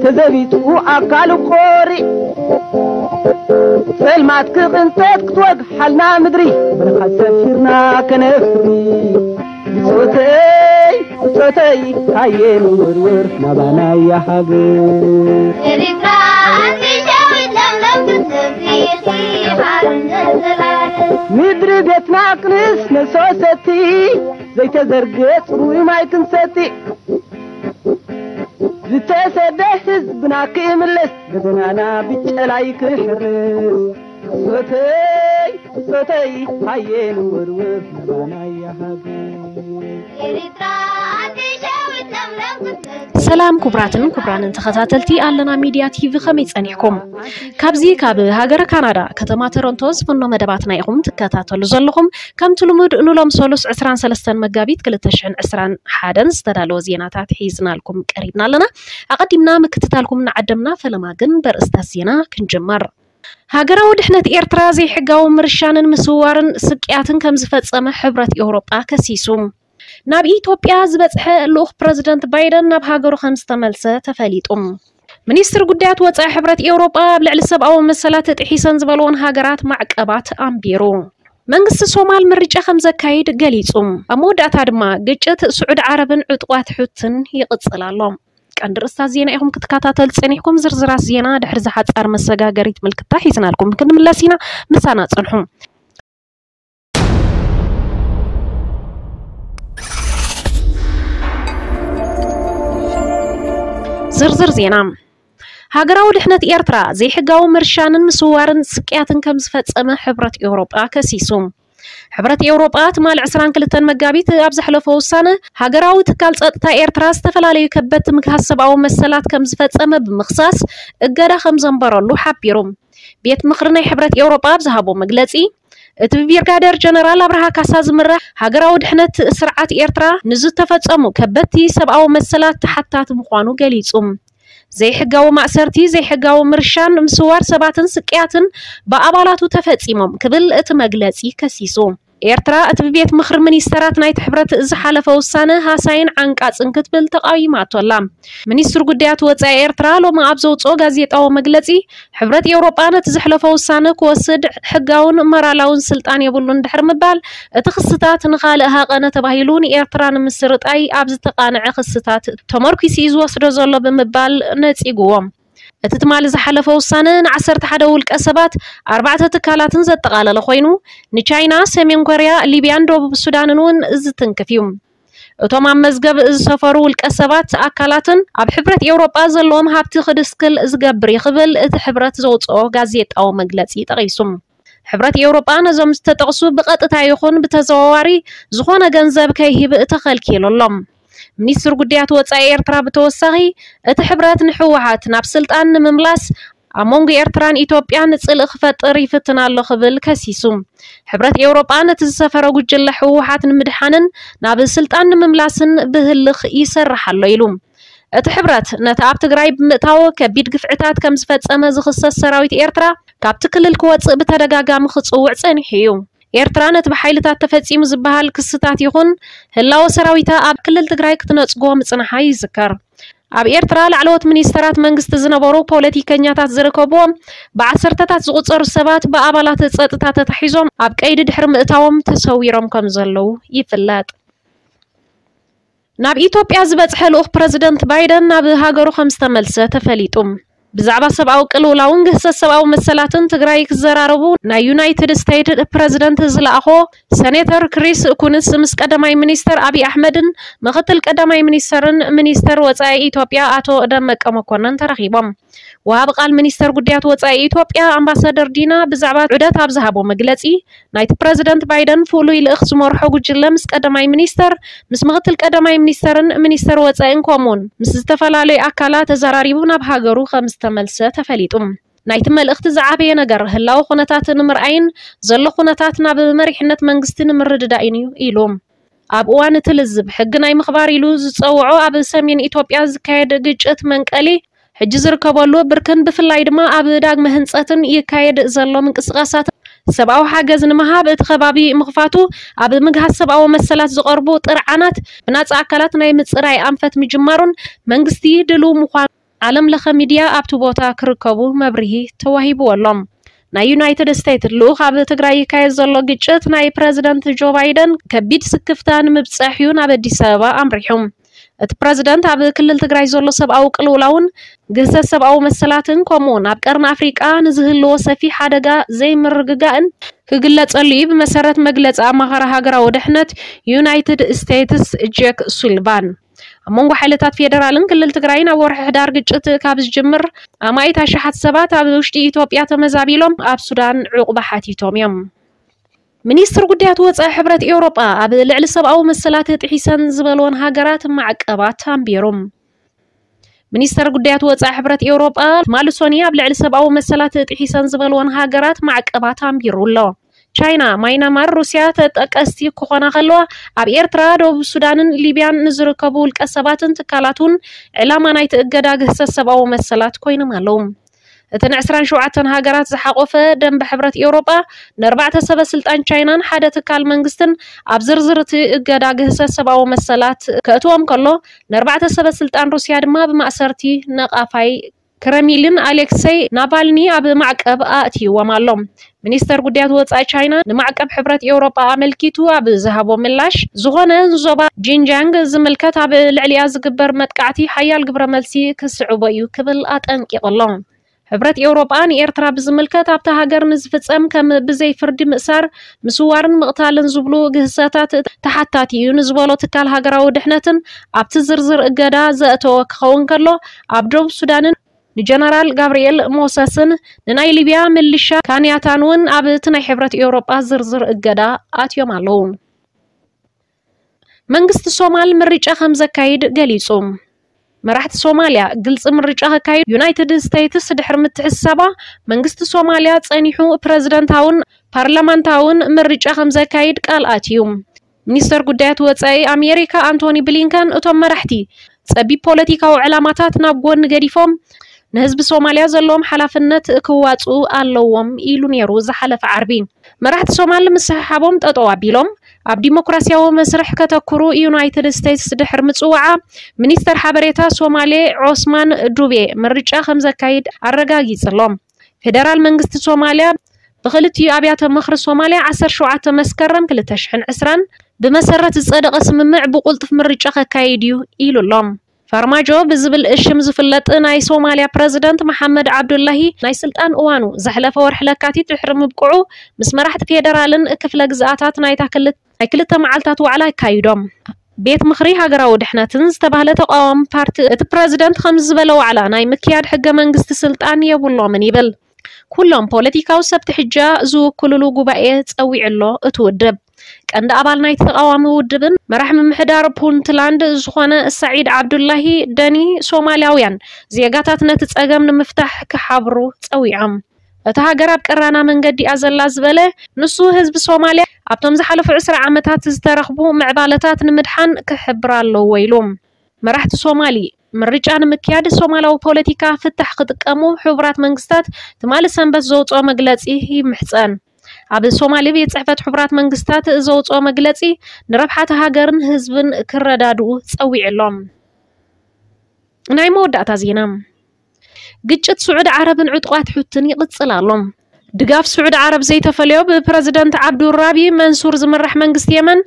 ተዘቢጡ ኣካሉ ቆሪዕ፣ ጸልማት ክቕንጠጥ ክትወግሓልና ምድሪ፣ ብርሃን ሰፊርና ከነፍሪ። ብጾተይ ብጾተይ ሃየ ንወርወር ናባናያ ሃገር። ኤሪትራ ኣንቲሸዊት ለምለም ክትነብሪ ኢኺ ሓርነት ዘላለም። ምድሪ ቤትና ክንስ መሶሰቲ፣ ዘይተዘርገ ጽሩይ ማይ ክንሰቲ። ዝተሰደ ህዝብና ክምለስ፣ ገደናና ብጨላይ ክሕረስ። ብጾተይ ብጾተይ ሃየ ንወርወር ናባናያ ሃገር። ኤሪትራ ኣንቲሸዊት ለምለም ክትነብሪ። ሰላም ክቡራትን ክቡራንን ተኸታተልቲ ኣለና ሚድያ ቲቪ፣ ከመይ ጸኒሕኩም? ካብዚ ካብ ሃገረ ካናዳ ከተማ ቶሮንቶ ዝፍኖ መደባትና ኢኹም ትከታተሉ ዘለኹም። ከምቲ ልሙድ ንሎም ሰሉስ ዕስራን ሰለስተን መጋቢት ክልተ ሽሕን ዕስራን ሓደን ዝተዳለወ ዜናታት ሒዝናልኩም ቀሪብና ኣለና። ኣቐዲምና ምክትታልኩም ንዓደምና፣ ፈለማ ግን በርእስታት ዜና ክንጅምር። ሃገራዊ ድሕነት ኤርትራ ዘይሕጋዊ ምርሻንን ምስዋርን ስቅያትን ከም ዝፈጸመ ሕብረት ኤውሮጳ ከሲሱ። ናብ ኢትዮጵያ ዝበጽሐ ልኡኽ ፕረዚደንት ባይደን ናብ ሃገሩ ከም ዝተመልሰ ተፈሊጡ። ሚኒስትር ጉዳያት ወጻኢ ሕብረት ኤውሮጳ ኣብ ልዕሊ ሰብኣዊ መሰላት ጥሒሰን ዝበልዎን ሃገራት ማዕቀባት ኣንቢሩ። መንግስቲ ሶማል ምርጫ ከም ዘካይድ ገሊጹ። ኣብ መወዳእታ ድማ ግጭት ስዑዲ ዓረብን ዕጡቓት ሑትን ይቕጽል ኣሎ። ቀንዲ ርእስታት ዜና ኢኹም ክትከታተሉ ጸኒሕኩም። ዝርዝራት ዜና ድሕሪ ዝሓጻር መሰጋገሪት ምልክታ ሒዝናልኩም ክንምለስ ኢና። ምሳና ጽንሑ። ዝርዝር ዜና። ሃገራዊ ድሕነት ኤርትራ ዘይሕጋዊ ምርሻንን ምስዋርን ስቅያትን ከም ዝፈጸመ ሕብረት ኤውሮጳ ከሲሱ። ሕብረት ኤውሮጳ ትማሊ ዕስራን ክልተን መጋቢት ኣብ ዘሕለፎ ውሳነ፣ ሃገራዊ ትካል ጸጥታ ኤርትራ ዝተፈላለዩ ከበድቲ ምግሃስ ሰብኣዊ መሰላት ከም ዝፈጸመ ብምኽሳስ፣ እገዳ ከም ዘንበረሉ ሓቢሩ። ቤት ምኽሪ ናይ ሕብረት ኤውሮጳ ኣብ ዝሃቦ መግለጺ፣ እቲ ብብሪጋደር ጀነራል ኣብርሃ ካሳ ዝምራሕ ሃገራዊ ድሕነት ስርዓት ኤርትራ ንዝተፈጸሙ ከበድቲ ሰብኣዊ መሰላት ተሓታቲ ምዃኑ ገሊጹ። ዘይሕጋዊ ማእሰርቲ፣ ዘይሕጋዊ ምርሻን፣ ምስዋር ሰባትን ስቅያትን ብኣባላቱ ተፈጺሞም ክብል እቲ መግለጺ ከሲሱ። ኤርትራ እቲ ብቤት ምኽሪ ሚኒስተራት ናይቲ ሕብረት ዝሓለፈ ውሳነ ሃሳይን ዓንቃጽን ክትብል ተቓዊማቶ ኣላ። ሚኒስትር ጉዳያት ወጻኢ ኤርትራ ሎሚ ኣብ ዘውጽኦ ጋዜጣዊ መግለጺ፣ ሕብረት ኤውሮጳ ነቲ ዘሕለፎ ውሳነ ክወስድ ሕጋውን መራላውን ስልጣን የብሉን ድሕሪ ምባል፣ እቲ ክስታት ንኻልእ ሃቐነ ተባሂሉ ንኤርትራ ንምስርጣይ ኣብ ዝተቓንዐ ክስታት ተመርኲሱ እዩ ዝወስዶ ዘሎ ብምባል ነጺግዎ። እቲ ትማሊ ዝሓለፈ ውሳነ ንዓሰርተ ሓደ ውልቀ ሰባት፣ ኣርባዕተ ትካላትን ዘጠቓለለ ኮይኑ፣ ንቻይና፣ ሰሜን ኮርያ፣ ሊብያን ደቡብ ሱዳንን እውን ዝትንክፍ እዩ። እቶም ኣብ መዝገብ ዝሰፈሩ ውልቀ ሰባት፣ ኣካላትን ኣብ ሕብረት ኤውሮጳ ዘለዎም ሃብቲ ክድስክል ዝገብር እዩ ክብል እቲ ሕብረት ዘውጽኦ ጋዜጣዊ መግለጺ ጠቒሱ። ሕብረት ኤውሮጳ ነዞም ዝተጠቕሱ ብቐጥታ ይኹን ብተዘዋዋሪ ዝኾነ ገንዘብ ከይህብ ተኸልኪሉ ኣሎ። ሚኒስትር ጉዳያት ወጻኢ ኤርትራ ብተወሳኺ፣ እቲ ሕብረት ንህወሓት ናብ ስልጣን ንምምላስ ኣብ መንጎ ኤርትራን ኢትዮጵያን ጽልኢ ክፈጥር ይፍትን ኣሎ ክብል ከሲሱ። ሕብረት ኤውሮጳ ነቲ ዝሰፈረ ጉጅለ ህወሓት ንምድሓንን ናብ ስልጣን ንምምላስን ብህልኽ ይሰርሕ ኣሎ ኢሉ። እቲ ሕብረት ነቲ ኣብ ትግራይ ብምእታው ከቢድ ግፍዕታት ከም ዝፈጸመ ዝኽሰስ ሰራዊት ኤርትራ ካብቲ ክልል ክወጽእ ብተደጋጋሚ ክጽውዕ ጸኒሑ እዩ። ኤርትራ ነቲ ብሓይልታት ተፈጺሙ ዝበሃል ክስታት ይኹን ህላወ ሰራዊታ ኣብ ክልል ትግራይ ክትነጽጎ ምጽንሓ ይዝከር። ኣብ ኤርትራ ላዕለዎት ሚኒስተራት መንግስቲ ዝነበሩ ፖለቲከኛታት ዝርከብዎም ብዓሰርተታት ዝቑጸሩ ሰባት ብኣባላት ጸጥታ ተታሒዞም ኣብ ቀይዲ ድሕሪ ምእታዎም ተሰዊሮም ከም ዘለዉ ይፍለጥ። ናብ ኢትዮጵያ ዝበጽሐ ልኡኽ ፕረዚደንት ባይደን ናብ ሃገሩ ከም ዝተመልሰ ተፈሊጡ። ብዛዕባ ሰብኣዊ ቅልውላውን ግህሰት ሰብኣዊ መሰላትን ትግራይ ክዘራረቡ ናይ ዩናይትድ ስቴትስ ፕረዚደንት ዝለኣኾ ሰኔተር ክሪስ ኩንስ ምስ ቀዳማይ ሚኒስተር ኣብይ ኣሕመድን ምኽትል ቀዳማይ ሚኒስተርን ሚኒስተር ወጻኢ ኢትዮጵያ ኣቶ ደመቀ መኮነን ተራኺቦም። ወሃቢ ቃል ሚኒስተር ጉዳያት ወጻኢ ኢትዮጵያ ኣምባሳደር ዲና ብዛዕባ ዑደት ኣብ ዝሃቦ መግለጺ፣ ናይቲ ፕረዚደንት ባይደን ፍሉይ ልእኽ ዝመርሖ ጉጅለ ምስ ቀዳማይ ሚኒስተር፣ ምስ ምኽትል ቀዳማይ ሚኒስተርን ሚኒስተር ወጻኢን ከምኡውን ምስ ዝተፈላለዩ ኣካላት ተዘራሪቡ ናብ ሃገሩ ከም ዝተመልሰ ተፈሊጡ። ናይቲ መልእኽቲ ዝዓበየ ነገር ህላወ ኩነታት ንምርኣይን ዘሎ ኩነታት ናብ መሪሕነት መንግስቲ ንምርድዳእን እዩ ኢሉ። ኣብ እዋን እቲ ልዝብ ሕጊ ናይ ምኽባር ኢሉ ዝጸውዖ ኣብ ሰሜን ኢትዮጵያ ዝካየድ ግጭት መንቀሊ ሕጂ ዝርከበሉ ብርክን ብፍላይ ድማ ኣብ ዳግመ ህንጸትን ይካየድ ዘሎ ምንቅስቃሳት ሰብኣዊ ሓገዝ ንምሃብ እቲ ከባቢ ምኽፋቱ፣ ኣብ ምግሃስ ሰብኣዊ መሰላት ዝቐርቡ ጥርዓናት ብናጻ ኣካላት ናይ ምጽራይ ኣንፈት ምጅማሩን መንግስቲ ድልው ምዃኑ ዓለም ለኸ ሚድያ ኣብቲ ቦታ ክርከቡ መብርሂ ተዋሂብዎ ኣሎ። ናይ ዩናይትድ ስቴትስ ልኡኽ ኣብ ትግራይ ይካየድ ዘሎ ግጭት ናይ ፕረዚደንት ጆ ባይደን ከቢድ ስክፍታ ንምብጻሕ እዩ ናብ ኣዲስ ኣበባ ኣምሪሑ። እቲ ፕረዚደንት ኣብ ክልል ትግራይ ዘሎ ሰብኣዊ ቅልውላውን ግህሰት ሰብኣዊ መሰላትን ከምኡውን ኣብ ቀርኒ ኣፍሪቃ ንዝህልዎ ሰፊሕ ሓደጋ ዘይምርግጋእን ክግለጸሉ እዩ፣ ብመሰረት መግለጺ ኣማኻሪ ሃገራዊ ድሕነት ዩናይትድ ስቴትስ ጄክ ሱሊቫን። ኣብ መንጎ ሓይልታት ፌደራልን ክልል ትግራይን ኣብ ወርሒ ሕዳር ግጭት ካብ ዝጅምር ኣማኢት ኣሽሓት ሰባት ኣብ ውሽጢ ኢትዮጵያ ተመዛቢሎም ኣብ ሱዳን ዕቑባ ሓቲቶም እዮም። ሚኒስትር ጉዳያት ወጻኢ ሕብረት ኤውሮጳ ኣብ ልዕሊ ሰብኣዊ መሰላት ጥሒሰን ዝበልወን ሃገራት ማዕቀባት ኣንቢሩ። ሚኒስተር ጉዳያት ወጻኢ ሕብረት ኤውሮጳ ማሉሶኒ ኣብ ልዕሊ ሰብኣዊ መሰላት ጥሒሰን ዝበልወን ሃገራት ማዕቀባት ኣንቢሩ ኣሎ። ቻይና፣ ማይናማር፣ ሩስያ ተጠቀስቲ ክኾና ከለዋ፣ ኣብ ኤርትራ፣ ደቡብ ሱዳንን ሊብያን ንዝርከቡ ውልቀ ሰባትን ትካላት እውን ዕላማ ናይቲ እገዳ ግህሰት ሰብኣዊ መሰላት ኮይኖም ኣለዉ። እተን ዕስራን ሸውዓተን ሃገራት ዝሓቆፈ ደንበ ሕብረት ኤውሮጳ፣ ንኣርባዕተ ሰበ ስልጣን ቻይናን ሓደ ትካል መንግስትን ኣብ ዝርዝር እቲ እገዳ ግህሰት ሰብኣዊ መሰላት ከእትዎም ከሎ፣ ንኣርባዕተ ሰበ ስልጣን ሩስያ ድማ ብማእሰርቲ ነቓፋይ ክረሚልን ኣሌክሰይ ናቫልኒ ኣብ ማዕቀብ ኣእትይዎም ኣሎ። ሚኒስተር ጉዳያት ወጻኢ ቻይና ንማዕቀብ ሕብረት ኤውሮጳ ኣመልኪቱ ኣብ ዝሃቦ ምላሽ፣ ዝኾነ ንዞባ ጂንጃንግ ዝምልከት ኣብ ልዕሊኣ ዝግበር መጥቃዕቲ ሓያል ግብረ መልሲ ክስዕቦ እዩ ክብል ኣጠንቂቑ ኣሎ። ሕብረት ኤውሮጳ ንኤርትራ ብዝምልከት ኣብታ ሃገር ንዝፍጸም ከም ብዘይ ፍርዲ ምእሳር፣ ምስዋርን ምቕታልን ዝብሉ ግህሰታት ተሓታቲ እዩ ንዝበሎ ትካል ሃገራዊ ድሕነትን ኣብቲ ዝርዝር እገዳ ዘእተወ ክኸውን ከሎ፣ ኣብ ደቡብ ሱዳንን ንጀነራል ጋብርኤል ሞሰስን ንናይ ሊብያ ምልሻ ካንያታን እውን ኣብ እቲ ናይ ሕብረት ኤውሮጳ ዝርዝር እገዳ ኣትዮም ኣለዉ። መንግስቲ ሶማል ምርጫ ከም ዘካይድ ገሊጹ። መራሕቲ ሶማልያ ግልጺ ምርጫ ከካይዱ ዩናይትድ ስቴትስ ድሕሪ ምትሕስሳባ፣ መንግስቲ ሶማልያ ጸኒሑ ፕረዚደንታውን ፓርላማንታውን ምርጫ ከም ዘካይድ ቃል ኣትዩ። ሚኒስተር ጉዳያት ወጻኢ ኣሜሪካ ኣንቶኒ ብሊንከን፣ እቶም መራሕቲ ጸቢብ ፖለቲካዊ ዕላማታት ናብ ጎኒ ገዲፎም፣ ንህዝቢ ሶማልያ ዘለዎም ሓላፍነት ክዋጽኡ ኣለዎም ኢሉ ነይሩ ዝሓለፈ ዓርቢ። መራሕቲ ሶማል ምስሕሓቦም ጠጠው ኣቢሎም ኣብ ዲሞክራሲያዊ መስርሕ ከተኩሩ ዩናይትድ ስቴትስ ድሕሪ ምጽዋዓ፣ ሚኒስተር ሓበሬታ ሶማሌ ዖስማን ዱቤ ምርጫ ከም ዘካይድ ኣረጋጊጽ ኣሎ። ፌደራል መንግስቲ ሶማልያ ብክልቲኡ ኣብያተ ምኽሪ ሶማልያ ዓሰርተ ሸውዓተ መስከረም ክልተ ሽሕን ዕስራን ብመሰረት ዝጸደቐ ስምምዕ ብቁልጡፍ ምርጫ ከካይድ እዩ ኢሉ ኣሎ። ፋርማጆ ብዝብል ሽም ዝፍለጥ ናይ ሶማልያ ፕረዚደንት መሓመድ ዓብዱላሂ ናይ ስልጣን እዋኑ ዘሕለፈ ወርሒ ለካቲት ድሕሪ ምብቅዑ፣ ምስ መራሕቲ ፌደራልን ክፍለ ግዝኣታት ናይታ ክልተ ናይ ክልተ መዓልታት ዋዕላ ኣካይዶም። ቤት ምኽሪ ሃገራዊ ድሕነትን ዝተባህለ ተቃዋሚ ፓርቲ፣ እቲ ፕረዚደንት ከምዚ ዝበለ ዋዕላ ናይ ምክያድ ሕገ መንግስቲ ስልጣን የብሎምን ይብል። ኩሎም ፖለቲካዊ ሰብቲ ሕጃ ዝውክልሉ ጉባኤ ጸዊዑ ኣሎ እቲ ውድብ። ቀንዲ ኣባል ናይቲ ተቃዋሚ ውድብን መራሕ ምምሕዳር ፑንትላንድ ዝኾነ ሳዒድ ዓብዱላሂ ደኒ፣ ሶማልያውያን ዜጋታት ነቲ ጸገም ንምፍታሕ ክሓብሩ ጸዊዖም። እታ ሃገር ኣብ ቀራና መንገዲ እያ ዘላ ዝበለ ንሱ፣ ህዝቢ ሶማልያ ኣብቶም ዝሓለፉ ዕስራ ዓመታት ዝተረኽቡ ምዕባለታት ንምድሓን ክሕብር ኣለዎ ኢሉ። መራሕቲ ሶማሊ፣ ምርጫ ንምክያድ ሶማላዊ ፖለቲካ ፍታሕ ክጥቀሙ ሕቡራት መንግስታት ትማሊ ሰንበት ዘውፅኦ መግለፂ ይምሕፀን። ኣብ ሶማሊ ቤት ፅሕፈት ሕቡራት መንግስታት ዘውፅኦ መግለፂ ንረብሓ እታ ሃገርን ህዝብን ክረዳድኡ ፀዊዑ ኣሎ። ናይ መወዳእታ ዜና። ግጭት ስዑዲ ዓረብን ዕጡቓት ሑትን ይቕጽል ኣሎ። ድጋፍ ስዑዲ ዓረብ ዘይተፈልዮ ብፕረዚደንት ዓብዱራቢ መንሱር ዝምራሕ መንግስቲ የመን፣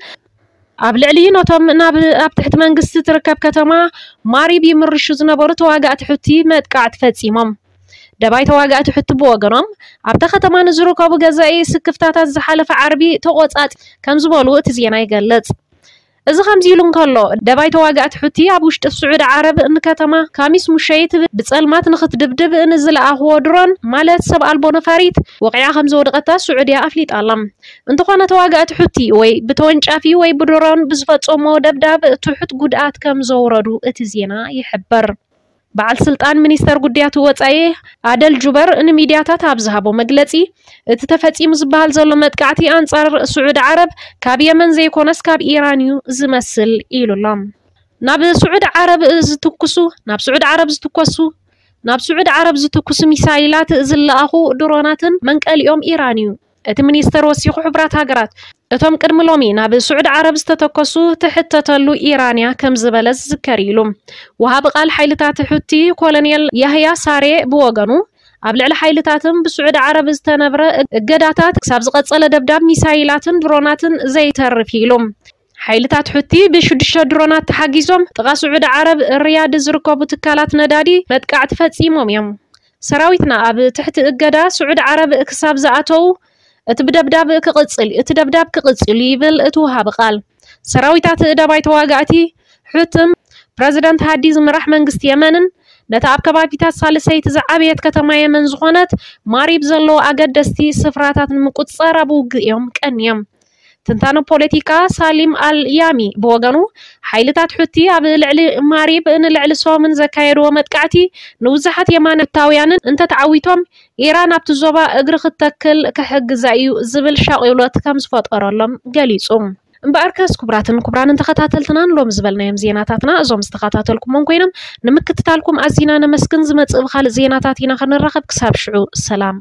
ኣብ ልዕሊ ነቶም ናብ ኣብ ትሕቲ መንግስቲ ትርከብ ከተማ ማሪብ ይምርሹ ዝነበሩ ተዋጋእቲ ሑቲ መጥቃዕቲ ፈጺሞም። ደባይ ተዋጋእቲ ሑቲ ብወገኖም፣ ኣብታ ከተማ ንዝርከቡ ገዛኢ ስክፍታታት ዝሓለፈ ዓርቢ ተቖጻጺ ከም ዝበሉ እቲ ዜና ይገልጽ። እዚ ከምዚ ኢሉ እንከሎ፣ ደባይ ተዋጋእቲ ሑቲ ኣብ ውሽጢ ስዑዲ ዓረብ ንከተማ ካሚስ ሙሸይት ብጸልማት ንኽትድብድብ ንዝለኣኽዎ ድሮን፣ ማለት ሰብ ኣልቦ ነፋሪት፣ ወቒዓ ከም ዘወደቐታ ስዑድያ ኣፍሊጣ ኣላ። እንተኾነ፣ ተዋጋእቲ ሑቲ ወይ ብተወንጫፊ ወይ ብድሮን ብዝፈጸሞ ደብዳብ ትሑት ጉድኣት ከም ዘውረዱ እቲ ዜና ይሕብር። በዓል ስልጣን ሚኒስተር ጉዳያት ወጻኢ ኣደል ጁበር ንሚድያታት ኣብ ዝሃቦ መግለጺ፣ እቲ ተፈጺሙ ዝበሃል ዘሎ መጥቃዕቲ ኣንጻር ስዑዲ ዓረብ ካብ የመን ዘይኮነስ ካብ ኢራን እዩ ዝመስል ኢሉ ኣሎ። ናብ ስዑዲ ዓረብ ዝትኩሱ፣ ናብ ስዑዲ ዓረብ ዝትኮሱ፣ ናብ ስዑዲ ዓረብ ዝትኩሱ ሚሳይላት ዝለኣኹ ድሮናትን መንቀሊኦም ኢራን እዩ። እቲ ሚኒስተር ወሲኹ፣ ሕቡራት ሃገራት እቶም ቅድሚ ሎሚ ናብ ስዑዲ ዓረብ ዝተተኮሱ ትሕተተሉ ኢራን እያ ከም ዝበለ ዝዝከር ኢሉ። ወሃቢ ቃል ሓይልታት ሑቲ ኮሎኔል ያህያ ሳሬ ብወገኑ፣ ኣብ ልዕሊ ሓይልታትን ብስዑዲ ዓረብ ዝተነብረ እገዳታት ክሳብ ዝቐጸለ ደብዳብ ሚሳይላትን ድሮናትን ዘይተርፍ ኢሉ። ሓይልታት ሑቲ ብሽዱሽተ ድሮናት ተሓጊዞም ጥቓ ስዑዲ ዓረብ ሪያድ ዝርከቡ ትካላት ነዳዲ መጥቃዕቲ ፈጺሞም እዮም። ሰራዊትና ኣብ ትሕቲ እገዳ ስዑዲ ዓረብ ክሳብ ዝኣተው እቲ ብደብዳብ ክቕጽል እቲ ደብዳብ ክቕጽል ይብል እቲ ወሃቢ ቃል። ሰራዊታት ደባይ ተዋጋእቲ ሑትን ፕረዚደንት ሃዲ ዝምራሕ መንግስቲ የመንን ነቲ ኣብ ከባቢታት ሳልሰይቲ ዝዓበየት ከተማ የመን ዝኾነት ማሪብ ዘለዉ ኣገደስቲ ስፍራታት ንምቁጽጻር ኣብ ውግእ እዮም ቀንዮም። ትንታነ ፖለቲካ ሳሊም ኣል ያሚ ብወገኑ፣ ሓይልታት ሑቲ ኣብ ልዕሊ ማሪብ ንልዕሊ ሶምን ዘካየድዎ መጥቃዕቲ ንብዙሓት የማናውያንን እንተተዓዊቶም፣ ኢራን ኣብቲ ዞባ እግሪ ክትተክል ክሕግዛ እዩ ዝብል ሻቒሎት ከም ዝፈጠረሎም ገሊጹ። እምበኣርከስ ክቡራትን ክቡራንን ተኸታተልትናን ሎም ዝበልናዮም ዜናታትና እዞም ዝተኸታተልኩሞም ኮይኖም ንምክትታልኩም ኣዚና ነመስግን። ዝመጽእ ብኻልእ ዜናታት ኢና ክንራኸብ። ክሳብ ሽዑ ሰላም።